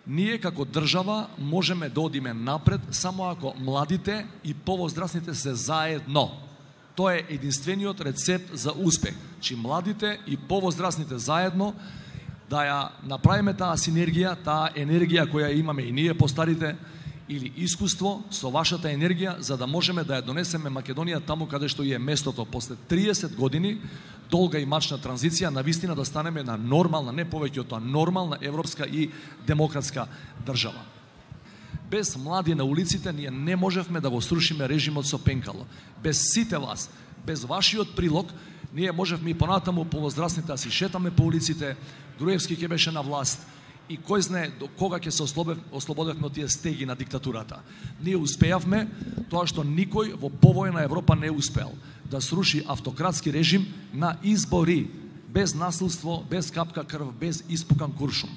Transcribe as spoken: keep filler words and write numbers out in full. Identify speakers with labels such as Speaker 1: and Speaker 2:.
Speaker 1: Ние како држава можеме да одиме напред само ако младите и повозрастните се заедно. Тоа е единствениот рецепт за успех. Чи младите и повозрастните заедно да ја направиме таа синергија, таа енергија која имаме и ние постарите, или искуство со вашата енергија, за да можеме да ја донесеме Македонија таму каде што е местото после триесет години долга и мачна транзиција, навистина да станеме на нормална, не повеќе од тоа, нормална европска и демократска држава. Без млади на улиците ние не можевме да го срушиме режимот со пенкало. Без сите вас, без вашиот прилог, ние можевме и понатаму повозрастните да си шетаме по улиците, Груевски ќе беше на власт и кој знае до кога ќе се ослободевме од тие стеги на диктатурата. Ние успеавме тоа што никој во повојна Европа не успеал, да сруши автократски режим на избори, без насилство, без капка крв, без испукан куршум.